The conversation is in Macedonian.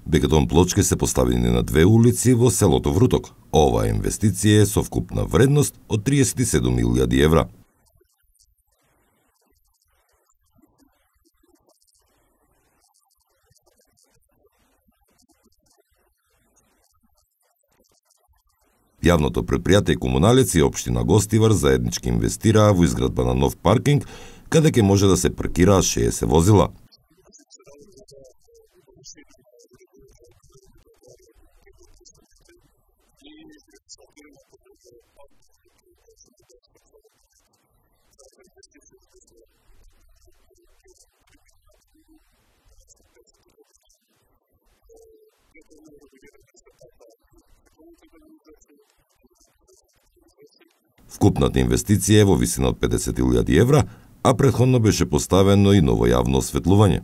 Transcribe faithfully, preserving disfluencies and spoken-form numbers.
Бетон плочки се поставени на две улици во селото Вруток. Оваа инвестиција е со вкупна вредност од триесет и седум илјади евра. Јавното предпријатие Комуналец и општина Гостивар заеднички инвестираа во изградба на нов паркинг, каде ќе може да се паркираат шеесет возила. Вкупната инвестиција е во висина од педесет илјади евра, а претходно беше поставено и ново јавно осветлување.